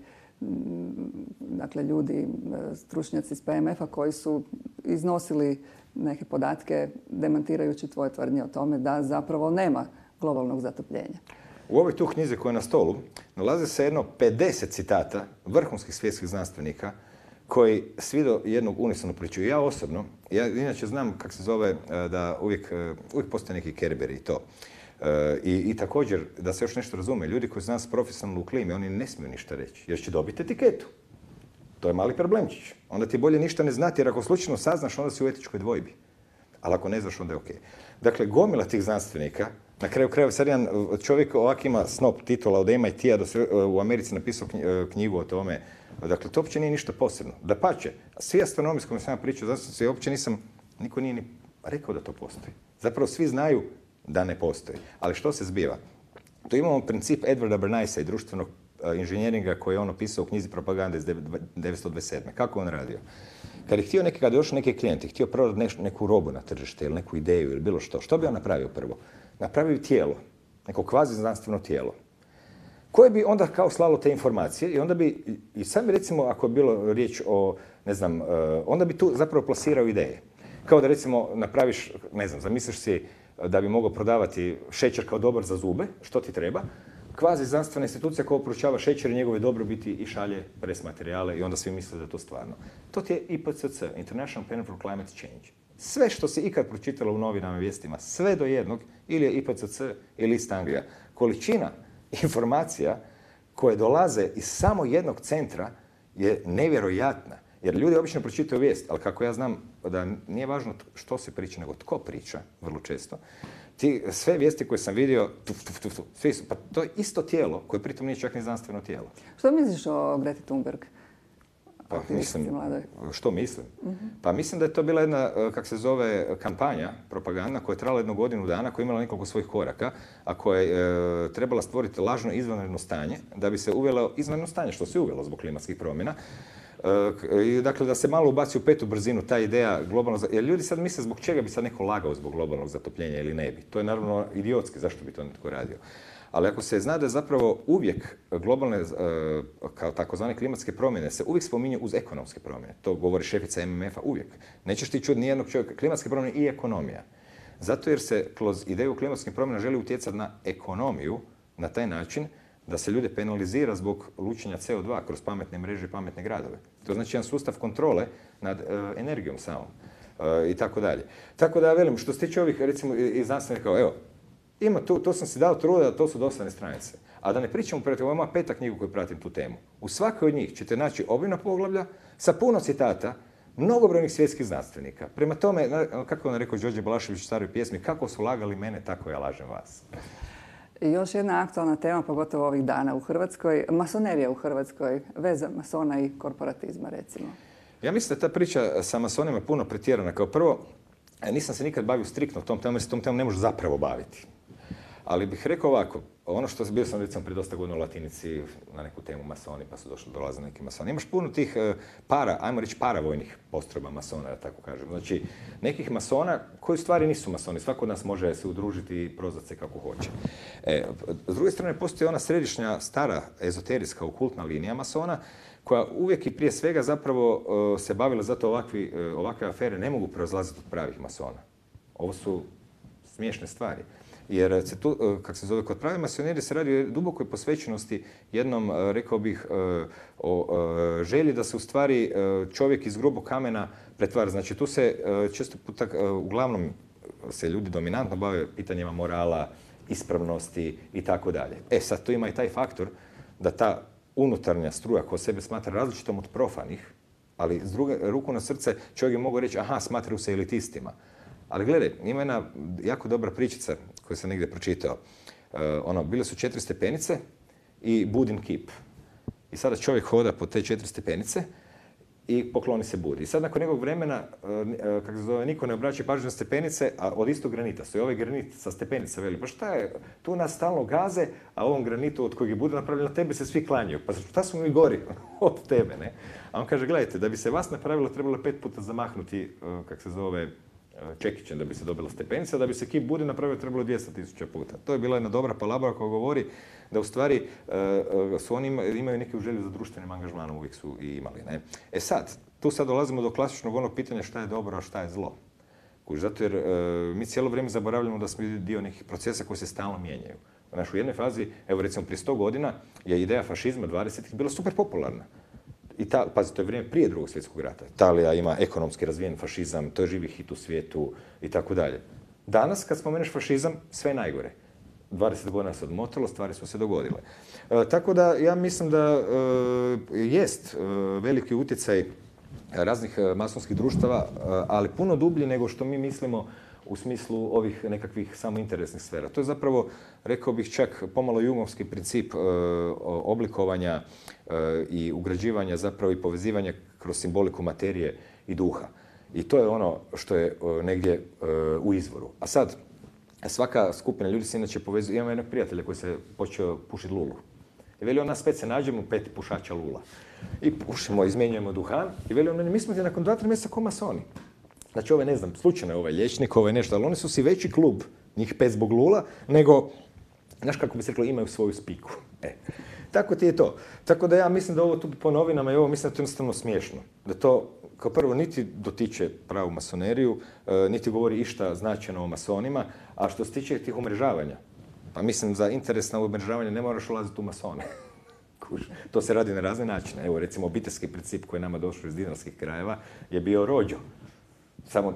dakle ljudi, stručnjaci iz P M F-a koji su iznosili neke podatke demantirajući tvoje tvrdnje o tome da zapravo nema globalnog zatopljenja. U ovoj tu knjizi koja je na stolu nalaze se jedno pedeset citata vrhunskih svjetskih znanstvenika koji svi do jednog unisonu pričaju. Ja osobno, ja inače znam kako se zove da uvijek, uvijek postoje neki kerberi i to. I, I također, da se još nešto razume, ljudi koji su nas profesionalno u klimi, oni ne smiju ništa reći, jer će dobiti etiketu. To je mali problemčić. Onda ti je bolje ništa ne znati, jer ako slučajno saznaš, onda si u etičkoj dvojbi. Ali ako ne znaš, onda je okej. Dakle, gomila tih znanstvenika, na kraju krajeva, sad jedan čovjek ovak ima snop titula od M I T-a da se u Americi napisao knjigu o tome. Dakle, to uopće nije ništa posebno. Dapače, svi astronomi s kojima sam ja pričao, znači uopće nisam, niko nije ni rekao da to postoji. Zapravo svi znaju da ne postoji. Ali što se zbiva? Tu imamo princip Edwarda Bernaisa i društvenog inženjeringa koji je on opisao u knjizi Propagande iz devetsto dvadeset sedme. Kako on radio? Kad je htio neki, kada je došao neki klijent i htio prodati neku robu na tržište ili neku ideju ili bilo što, što bi on napravio prvo? Napravio tijelo, neko kvazi znanstveno tijelo, koje bi onda kao slalo te informacije i onda bi, i sam bi recimo, ako je bilo riječ o, ne znam, onda bi tu zapravo plasirao ideje. Kao da recimo napraviš, ne znam, zamisliš si da bi mogao prodavati šećer kao dobar za zube, što ti treba, kvazi znanstvena institucija koja proučava šećer i njegove dobrobiti i šalje pres materijale i onda svi misle da je to stvarno. To ti je I P C C, International Panel for Climate Change. Sve što si ikad pročitalo u novinama i vijestima, sve do jednog, ili je I P C C ili East Anglia. Količina informacija koje dolaze iz samo jednog centra je nevjerojatna. Jer ljudi obično pročitaju vijest, ali kako ja znam da nije važno što se priča, nego tko priča, vrlo često. Ti, sve vijesti koje sam vidio, tuf, tuf, tuf, svi su, pa to je isto tijelo koje pritom nije čak ni znanstveno tijelo. Što misliš o Greti Thunberg? Pa mislim, što mislim? Uh-huh. Pa mislim da je to bila jedna, kak se zove, kampanja, propagandna koja je trajala jednu godinu dana, koja je imala nekoliko svojih koraka, a koja je e, trebala stvoriti lažno izvanredno stanje, da bi se uvelo izvanredno stanje, što se uvelo zbog klimatskih promjena. I dakle, da se malo ubaci u petu brzinu ta ideja globalnog, jer ljudi sad misle zbog čega bi sad neko lagao zbog globalnog zatopljenja ili ne bi. To je naravno idiotski, zašto bi to netko radio. Ali ako se zna da je zapravo uvijek globalne, kao takozvane klimatske promjene, se uvijek spominju uz ekonomske promjene. To govori šefica M M F-a uvijek. Nećeš ti čuti nijednog čovjeka. Klimatske promjene i ekonomija. Zato jer se kroz ideju klimatskih promjena želi utjecati na ekonomiju na taj način da se ljude penalizira zbog lučenja C O dva kroz pametne mreže i pametne gradove. To znači jedan sustav kontrole nad uh, energijom samom uh, i tako dalje. Tako da velim, što se tiče ovih, recimo, i znanstvenika, evo, ima tu, to sam si dao truda, to su dosadne stranice. A da ne pričamo protiv, ovo je moja peta knjiga koju pratim tu temu. U svakoj od njih ćete naći obimna poglavlja sa puno citata mnogobrojnih svjetskih znanstvenika. Prema tome, kako on rekao Đorđe Balašević u staroj pjesmi, kako su lagali mene, tako ja lažem vas. I još jedna aktualna tema, pogotovo ovih dana u Hrvatskoj, masonerija u Hrvatskoj, veza masona i korporatizma, recimo. Ja mislim da ta priča sa masonima je puno pretjerana. Kao prvo, nisam se nikad bavio striktno tom temom, jer se tom temom ne može zapravo baviti. Ali bih rekao ovako, ono što bio sam recimo prije dosta godina u Latinici na neku temu masoni, pa su došli, dolaze neki masoni. Imaš puno tih para, ajmo reći paravojnih postrojba masona, da tako kažem. Znači, nekih masona koji u stvari nisu masoni. Svako od nas može se udružiti i prozvati se kako hoće. E, s druge strane, postoji ona središnja, stara, ezoterijska, okultna linija masona, koja uvijek i prije svega zapravo uh, se bavila, zato ovakvi, uh, ovakve afere ne mogu proizlaziti od pravih masona. Ovo su smiješne stvari. Jer se tu, uh, kako se zove, kod pravi masonerije se radi o dubokoj posvećenosti jednom, uh, rekao bih, uh, o uh, želji da se u stvari uh, čovjek iz grubog kamena pretvara. Znači tu se uh, često puta, uh, uglavnom se ljudi dominantno bave pitanjima morala, ispravnosti i tako dalje. E sad tu ima i taj faktor da ta unutarnja struja koja sebe smatra različitom od profanih, ali s druge ruku na srce čovjek je mogao reći aha, smatraju se elitistima. Ali gledaj, ima jedna jako dobra pričica koju sam negdje pročitao. Uh, ono, bile su četiri stepenice i Budin kip. I sada čovjek hoda po te četiri stepenice i pokloni se Budi. I sad nakon nekog vremena, uh, kako se zove, niko ne obraća pažnju na stepenice, a od istog granita stoji ovaj granit sa stepenica, veli, pa šta je, tu nas stalno gaze, a ovom granitu od kojeg je Buda napravljeno na tebe se svi klanjaju. Pa šta smo mi gori od tebe, ne? A on kaže, gledajte, da bi se vas napravilo, trebalo je pet puta zamahnuti, uh, kako se zove, čekićem da bi se dobila stepenica, da bi se kip Budi napravio trebalo dvjesto tisuća puta. To je bila jedna dobra palabra koja govori da u stvari uh, su oni imaju neku želju za društvenim angažmanom, uvijek su i imali. Ne? E sad, tu sad dolazimo do klasičnog onog pitanja šta je dobro, a šta je zlo. Kuž, zato jer uh, mi cijelo vrijeme zaboravljamo da smo dio nekih procesa koji se stalno mijenjaju. Znaš, u jednoj fazi, evo recimo prije sto godina, je ideja fašizma dvadesetih bila super popularna. Ita, pazi, to je vrijeme prije drugog svjetskog rata. Italija ima ekonomski razvijen fašizam, to je živi hit u svijetu i tako dalje. Danas, kad spomeneš fašizam, sve je najgore. dvadeset godina se odmotalo, stvari su se dogodile. E, tako da ja mislim da e, jest e, veliki utjecaj raznih masonskih društava, e, ali puno dublji nego što mi mislimo u smislu ovih nekakvih samointeresnih sfera. To je zapravo, rekao bih, čak pomalo jungovski princip e, oblikovanja e, i ugrađivanja zapravo i povezivanja kroz simboliku materije i duha. I to je ono što je e, negdje e, u izvoru. A sad, svaka skupina ljudi se inače povezuje. Imamo jednog prijatelja koji se počeo pušiti lulu. I veli on, nas pet se nađemo, pet pušača lula. I pušimo, izmjenjujemo duhan. I veli on, mi smo ti nakon dva, tri mjeseca ko masoni. Znači, ovaj, ne znam, slučajno je ovaj liječnik, ovaj nešto, ali oni su si veći klub, njih pet zbog lula, nego, znaš kako bi se reklo, imaju svoju spiku. E, tako ti je to. Tako da ja mislim da ovo tu po novinama i ovo mislim da to je jednostavno smiješno. Da to, kao prvo, niti dotiče pravu masoneriju, niti govori išta značajno o masonima, a što se tiče tih umrežavanja, pa mislim za interes na umrežavanje ne moraš ulaziti u masone. To se radi na razne načine. Evo, recimo, obiteljski princip koji je nama došao iz dinarskih krajeva je bio rođo. Samo,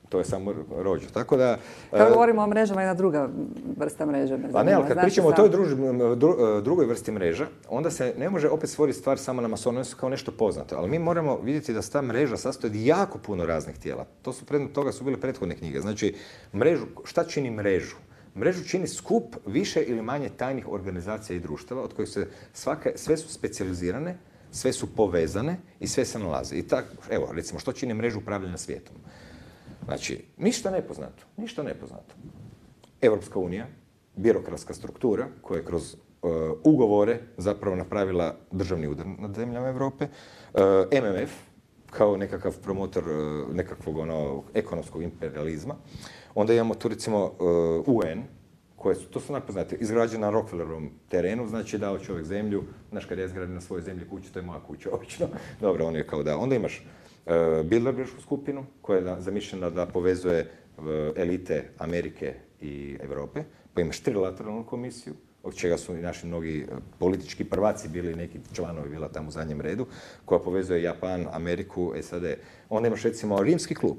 to je samo rođo. Tako da... Kad govorimo o mrežama, jedna druga vrsta mreže. A ne, ali kad pričamo o toj druži, dru, drugoj vrsti mreža, onda se ne može opet stvoriti stvar samo na masonu, one su kao nešto poznato. Ali mi moramo vidjeti da se ta mreža sastoji od jako puno raznih tijela. To su predmet toga su bile prethodne knjige. Znači, mrežu, šta čini mrežu? Mrežu čini skup više ili manje tajnih organizacija i društava, od kojih se svake, sve su specijalizirane, sve su povezane i sve se nalaze. I tako, evo, recimo, što čini mrežu upravljanja svijetom? Znači, ništa nepoznato, ništa nepoznato. Europska unija, birokratska struktura koja je kroz uh, ugovore zapravo napravila državni udar nad zemljama Europe, uh, M M F kao nekakav promotor uh, nekakvog ono, ekonomskog imperializma. Onda imamo tu recimo uh, U N, koje su, to su napoznate, izgrađene na Rockefellerovom terenu, znači dao čovjek zemlju, znaš kad ja izgradim na svojoj zemlji kuću, to je moja kuća obično. Dobro, on je kao da. Onda imaš uh, Bilderberšku skupinu koja je zamišljena da povezuje uh, elite Amerike i Europe, pa imaš trilateralnu komisiju, od čega su i naši mnogi politički prvaci bili, neki članovi bila tamo u zadnjem redu, koja povezuje Japan, Ameriku, S A D. Onda imaš recimo Rimski klub,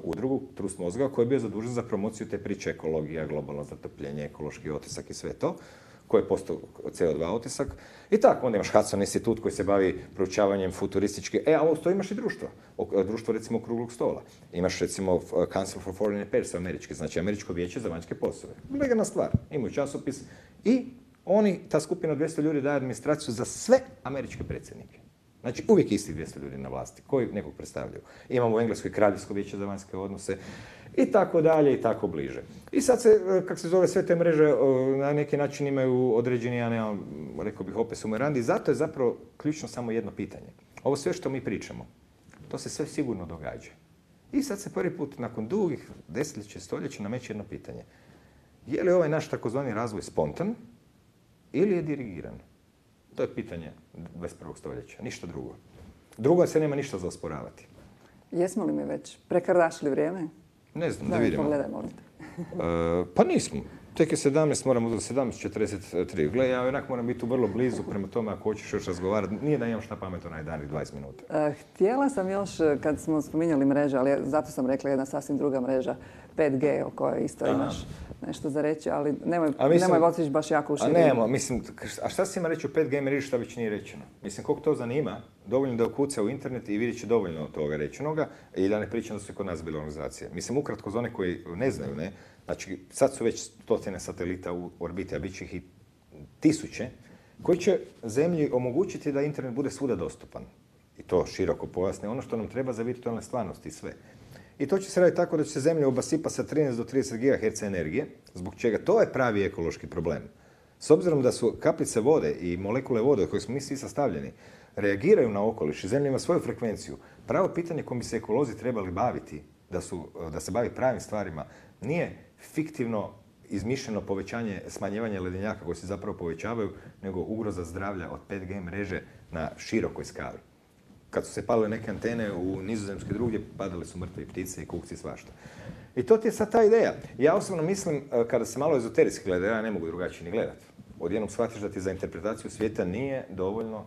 udrugu Trust mozga koji je bio zadužen za promociju te priče ekologija, globalno zatopljenje, ekološki otisak i sve to, koji je postao C O dva otisak. I tako, onda imaš Hudson institut koji se bavi proučavanjem futuristički. E, a ovo to imaš i društvo. Društvo recimo okruglog stola. Imaš recimo Council for Foreign Affairs američki, znači Američko vijeće za vanjske poslove. Legalna stvar. Imaju časopis i oni, ta skupina od dvjesto ljudi daje administraciju za sve američke predsjednike. Znači, uvijek isti dvjesto ljudi na vlasti koji nekog predstavljaju. Imamo u Engleskoj kraljevsko vijeće za vanjske odnose i tako dalje i tako bliže. I sad se, kako se zove, sve te mreže na neki način imaju određeni, ja nemam, rekao bih, opet sumerandi. Zato je zapravo ključno samo jedno pitanje. Ovo sve što mi pričamo, to se sve sigurno događa. I sad se prvi put nakon dugih desetljeća, stoljeća nameće jedno pitanje. Je li ovaj naš takozvani razvoj spontan ili je dirigiran? To je pitanje dvadeset prvog stoljeća, ništa drugo. Drugo se nema ništa za osporavati. Jesmo li mi već prekardašili vrijeme? Ne znam, da, da vidimo. Pogledaj, molim te. uh, pa nismo. Tek je sedamnaest, moramo do sedamnaest četrdeset tri. Gle, ja onak moram biti tu vrlo blizu, prema tome ako hoćeš još razgovarati. Nije da imam šta pametno na danih dvadeset minuta. Uh, htjela sam još, kad smo spominjali mreže, ali zato sam rekla jedna sasvim druga mreža, pet G, o kojoj isto Aha. imaš nešto za reći, ali nemoj, mislim, nemoj otići baš jako u širinu. A nema, mislim, a šta se ima reći o pet G mreži šta već nije rečeno? Mislim, koliko to zanima, dovoljno da ukuca u internet i vidjet će dovoljno toga rečenoga i da ne pričam da su i kod nas bile organizacije. Mislim, ukratko za one koji ne znaju, ne, znači, sad su već stotine satelita u orbiti, a bit će ih i tisuće, koji će zemlji omogućiti da internet bude svuda dostupan. I to široko pojasne, ono što nam treba za virtualne stvarnosti i sve. I to će se raditi tako da će se zemlja obasipa sa trinaest do trideset gigaherca energije, zbog čega to je pravi ekološki problem. S obzirom da su kapljice vode i molekule vode od koje smo mi svi sastavljeni, reagiraju na okoliš i zemlja ima svoju frekvenciju, pravo pitanje kojim bi se ekolozi trebali baviti, da, su, da se bavi pravim stvarima, nije fiktivno izmišljeno povećanje, smanjivanje ledenjaka koji se zapravo povećavaju, nego ugroza zdravlja od pet G mreže na širokoj skali. Kad su se palile neke antene u Nizozemskoj drugdje, padale su mrtve ptice i kukci i svašta. I to ti je sad ta ideja. Ja osobno mislim, kada se malo ezoterijski gleda, ja ne mogu drugačije ni gledati. Odjednom shvatiš da ti za interpretaciju svijeta nije dovoljno,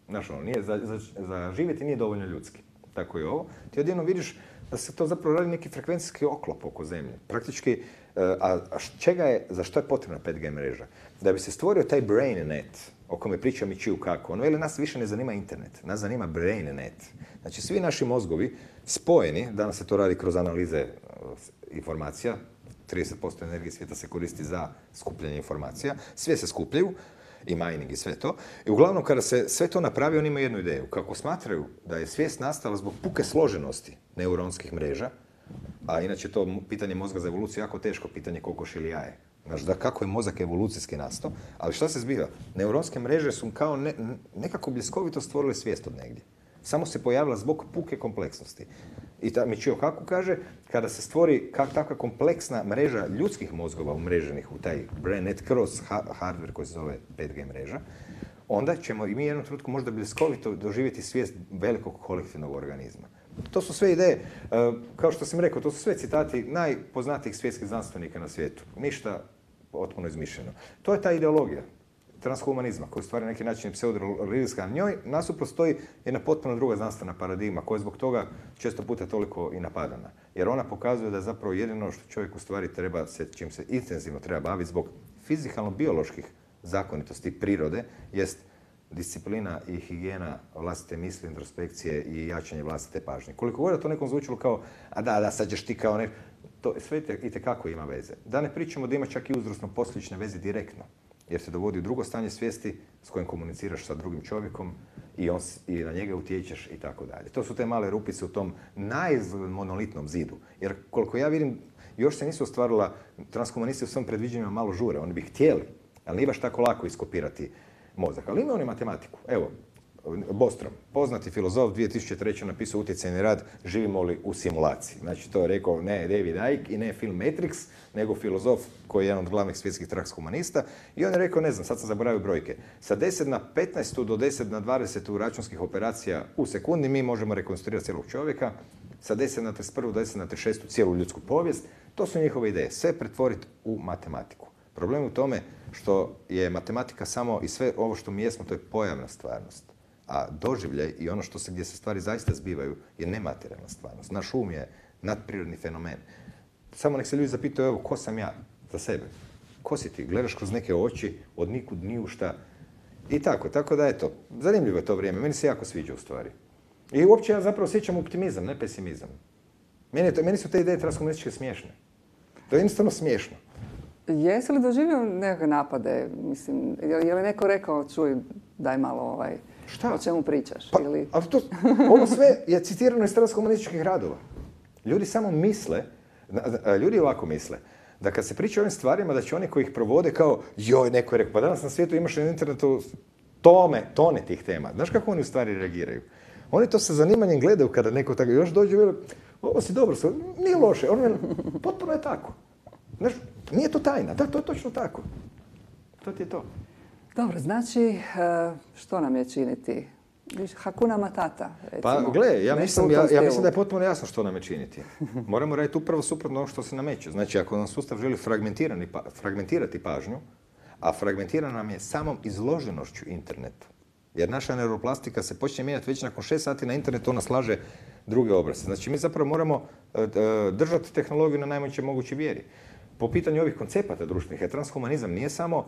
znaš ono, nije za, za, za živjeti nije dovoljno ljudski. Tako je ovo. Ti odjednom vidiš da se to zapravo radi neki frekvencijski oklop oko zemlje. Praktički, a, a čega je, za što je potrebna pet G mreža? Da bi se stvorio taj brain net, o kome priča Mićiju kako. Ono, ili nas više ne zanima internet, nas zanima brain net. Znači, svi naši mozgovi spojeni, danas se to radi kroz analize informacija, trideset posto energije svijeta se koristi za skupljanje informacija, sve se skupljaju, i mining i sve to. I uglavnom, kada se sve to napravi, oni imaju jednu ideju. Kako smatraju da je svijest nastala zbog puke složenosti neuronskih mreža, a inače to pitanje mozga za evoluciju jako teško pitanje kokoš ili jaje. Znaš, da kako je mozak evolucijski nastao, ali šta se zbiva? Neuronske mreže su kao ne, nekako bljeskovito stvorile svijest od negdje. Samo se pojavila zbog puke kompleksnosti. I ta Mićio Kaku kaže, kada se stvori kak, takva kompleksna mreža ljudskih mozgova umreženih u taj brain net kroz ha- hardware koji se zove pet G mreža, onda ćemo i mi jednom trenutku možda bljeskovito doživjeti svijest velikog kolektivnog organizma. To su sve ideje, kao što sam rekao, to su sve citati najpoznatijih svjetskih znanstvenika na svijetu. Ništa potpuno izmišljeno. To je ta ideologija transhumanizma, koji stvari na neki način pseudo-religijska. Na njoj nasuprot stoji jedna potpuno druga znanstvena paradigma, koja je zbog toga često puta toliko i napadana. Jer ona pokazuje da zapravo jedino što čovjek u stvari treba, se, čim se intenzivno treba baviti zbog fizikalno-bioloških zakonitosti prirode, jest disciplina i higijena vlastite misli, introspekcije i jačanje vlastite pažnje. Koliko god to nekom zvučilo kao, a da, da, sad ćeš ti kao ne... To sve itekako ima veze. Da ne pričamo da ima čak i uzrosno-posljedične veze direktno, jer se dovodi u drugo stanje svijesti s kojim komuniciraš sa drugim čovjekom i, on, i na njega utječeš i tako dalje. To su te male rupice u tom najmonolitnom zidu. Jer koliko ja vidim, još se nisu ostvarila, transhumanisti u svom predviđanjima malo žure. Oni bi htjeli, ali nije baš tako lako iskopirati mozak. Ali imaju oni matematiku. Evo, Bostrom, poznati filozof, dvije tisuće treće napisao utjecajni rad Živimo li u simulaciji. Znači, to je rekao ne David Icke i ne film Matrix, nego filozof koji je jedan od glavnih svjetskih transhumanista. I on je rekao, ne znam, sad sam zaboravio brojke, sa deset na petnaest do deset na dvadeset računskih operacija u sekundi mi možemo rekonstruirati cijelog čovjeka, sa deset na trideset jedan do deset na trideset šest cijelu ljudsku povijest. To su njihove ideje. Sve pretvoriti u matematiku. Problem je u tome što je matematika samo i sve ovo što mi jesmo, to je pojavna stvarnost. A doživljaj i ono što se, gdje se stvari zaista zbivaju je nematerijalna stvarnost. Naš um je nadprirodni fenomen. Samo nek se ljudi zapitaju, evo, ko sam ja za sebe? Ko si ti? Gledaš kroz neke oči, od nikud ni u šta. I tako, tako da eto, zanimljivo je to vrijeme. Meni se jako sviđa u stvari. I uopće ja zapravo osjećam optimizam, ne pesimizam. Meni, to, meni su te ideje transhumanističke smiješne. To je jednostavno smiješno. Jesi li doživio nekakve napade? Mislim, je li neko rekao, čuj, daj malo ovaj... Šta? O čemu pričaš? Pa, ili... ali to, ovo sve je citirano iz transhumanističkih radova. Ljudi samo misle, ljudi ovako misle, da kad se priča o ovim stvarima, da će oni koji ih provode kao, joj, neko je rekao, pa danas na svijetu imaš na internetu tome, tone tih tema. Znaš kako oni u stvari reagiraju? Oni to sa zanimanjem gledaju kada neko tako još dođe i veli, ovo si dobro, nije loše, ono, potpuno je tako. Znaš, nije to tajna, da, to je točno tako. To ti je to. Dobro, znači, što nam je činiti? Hakuna Matata, recimo. Pa gle, ja mislim, ja, ja mislim da je stilu. potpuno jasno što nam je činiti. Moramo raditi upravo suprotno ono što se nameće. Znači, ako nam sustav želi pa, fragmentirati pažnju, a fragmentira nam je samom izloženošću internetu. Jer naša neuroplastika se počne mijenjati već nakon šest sati na internetu, ona slaže druge obrasce. Znači, mi zapravo moramo uh, držati tehnologiju na najmoćnoj mogućoj vjeri. Po pitanju ovih koncepata društvenih, transhumanizam nije samo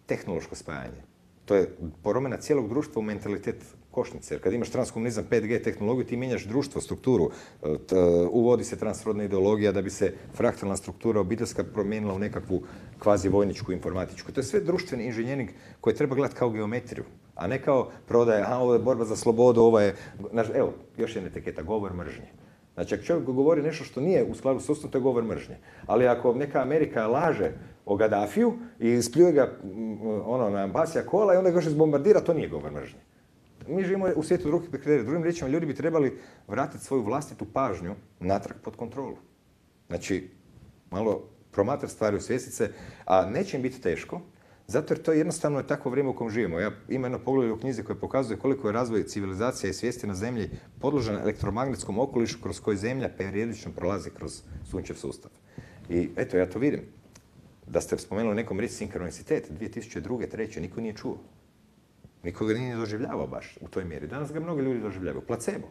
tehnološko spajanje. To je promjena cijelog društva u mentalitet košnice. Jer kad imaš transhumanizam, pet G tehnologiju, ti mijenjaš društvo, strukturu. T, uvodi se transrodna ideologija da bi se fraktalna struktura obiteljska promijenila u nekakvu kvazi vojničku informatičku. To je sve društveni inženjering koji treba gledati kao geometriju, a ne kao prodaje, a ovo je borba za slobodu, ovo je... Evo, još jedna etiketa, govor mržnje. Znači, ako čovjek govori nešto što nije u skladu s Ustavom, to je govor mržnje. Ali ako neka Amerika laže o Gaddafiju i spljuje ga ono, na Basija kola i onda ga još izbombardira, to nije govor mržnje. Mi živimo u svijetu drugih kriterija. Drugim riječima, ljudi bi trebali vratiti svoju vlastitu pažnju natrag pod kontrolu. Znači, malo promatrati stvari u svjestice, a neće im biti teško, zato jer to je jednostavno takvo vrijeme u kojem živimo. Ja imam jedno poglavlje u knjizi koje pokazuje koliko je razvoj civilizacije i svijesti na zemlji podložen elektromagnetskom okolišu kroz koji zemlja periodično prolazi kroz sunčev sustav. I eto, ja to vidim. Da ste spomenuli nekom riječ sinkronicitet, dvije tisuće druge, treće niko nije čuo. Niko ga nije doživljavao baš u toj mjeri. Danas ga mnogi ljudi doživljavaju. Placebo.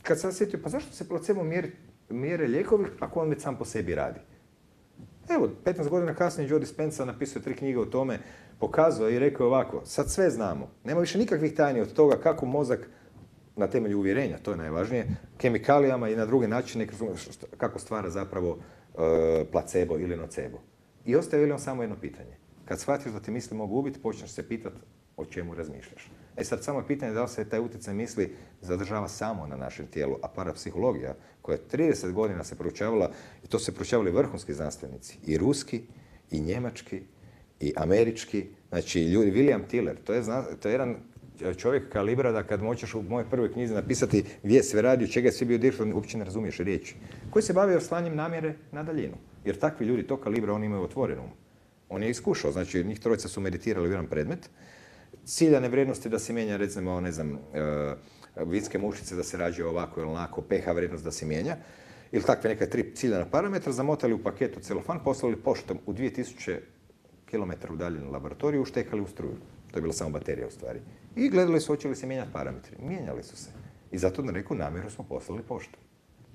Kad sam sjetio, pa zašto se placebo mjeri, mjere lijekovi ako on već sam po sebi radi? Evo, petnaest godina kasnije Joe Dispenza napisao tri knjige o tome, pokazao i rekao ovako, sad sve znamo. Nema više nikakvih tajni od toga kako mozak na temelju uvjerenja, to je najvažnije, kemikalijama i na druge načine kako stvara zapravo e, placebo ili nocebo. I ostaje li on samo jedno pitanje. Kad shvatiš da ti misli mogu ubiti, počneš se pitati o čemu razmišljaš. E sad samo je pitanje da li se taj utjecaj misli zadržava samo na našem tijelu, a parapsihologija koja trideset godina se proučavala, i to se proučavali vrhunski znanstvenici, i ruski, i njemački, i američki, znači ljudi, William Tiller, to je, to je jedan čovjek kalibra da kad moćeš u mojoj prvoj knjizi napisati gdje je sve radio, čega je sve bio direktor, uopće ne razumiješ riječi, koji se bavio slanjem namjere na daljinu. Jer takvi ljudi, to kalibra, oni imaju otvorenu. On je iskušao, znači njih trojica su meditirali u jedan predmet, ciljane vrijednosti da se mijenja, recimo, ne znam, uh, vinske mušice da se rađe ovako ili onako, pH vrijednost da se mijenja, ili takve neka tri ciljana parametra, zamotali u paketu celofan, poslali poštom u dvije tisuće kilometara udaljenu laboratoriju, uštekali u struju. To je bila samo baterija u stvari. I gledali su hoće li se mijenjati parametri. Mijenjali su se. I zato na neku namjeru smo poslali poštom.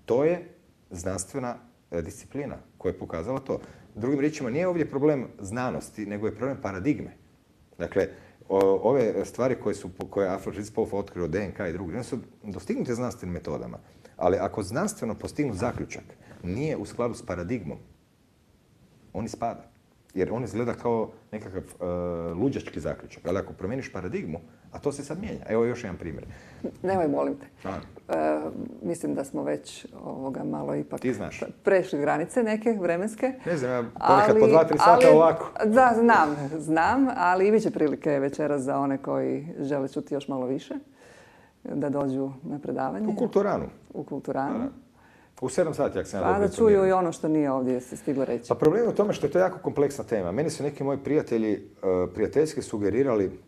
To je znanstvena disciplina koja je pokazala to. Drugim riječima, nije ovdje problem znanosti, nego je problem paradigme. Dakle, ove stvari koje su, koje je Alfred Ritzpolf otkrio, D N K i drugi, one su dostignute znanstvenim metodama. Ali ako znanstveno postignu zaključak nije u skladu s paradigmom, on ispada. Jer on izgleda kao nekakav uh, luđački zaključak. Ali ako promijeniš paradigmu, a to se sad mijenja. Evo još jedan primjer. Nemoj, molim te. E, mislim da smo već ovoga malo ipak prešli granice neke vremenske. Ne znam, ja ponekad po dva, tri sata ali, ovako. Da, znam, znam, ali i bit će prilike večeras za one koji žele čuti još malo više, da dođu na predavanje. U Kulturanu. U Kulturanu. Da. U sedam sati, ako sam ja dobro. Pa da čuju i ono što nije ovdje se stiglo reći. Pa problem je u tome što je to jako kompleksna tema. Meni su neki moji prijatelji uh, prijateljski sugerirali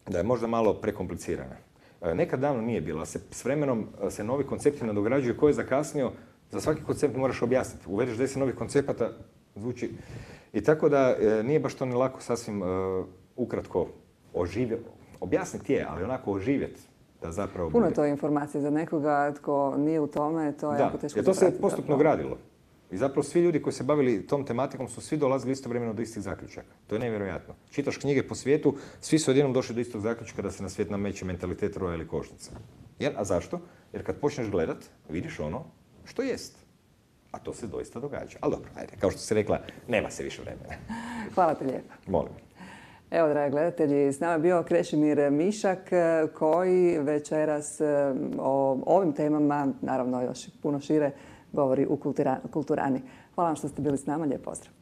da je možda malo prekomplicirana. Uh, nekad davno nije bila. Se, s vremenom uh, se novi koncepti nadograđuju. Ko je zakasnio, za svaki koncept moraš objasniti. Uvedeš deset novih koncepata, zvuči. I tako da uh, nije baš to ni lako sasvim uh, ukratko oživjeti. Objasniti je, ali onako oživjeti. Da zapravo Puno bude. to je informacije za nekoga tko nije u tome, to je da, jako teško. Da, to se postupno gradilo. I zapravo svi ljudi koji se bavili tom tematikom su svi dolazili istovremeno do istih zaključaka. To je nevjerojatno. Čitaš knjige po svijetu, svi su odjednom došli do istog zaključka da se na svijet nameće mentalitet roja ili košnica. Jer, a zašto? Jer kad počneš gledat, vidiš ono što jest. A to se doista događa. Ali dobro, ajde, kao što si rekla, nema se više vremena. Hvala ti lijepo. Molim. Evo, dragi gledatelji, s nama je bio Krešimir Mišak koji večeras o ovim temama, naravno još puno šire, govori u Kulturani. Hvala vam što ste bili s nama, lijep pozdrav.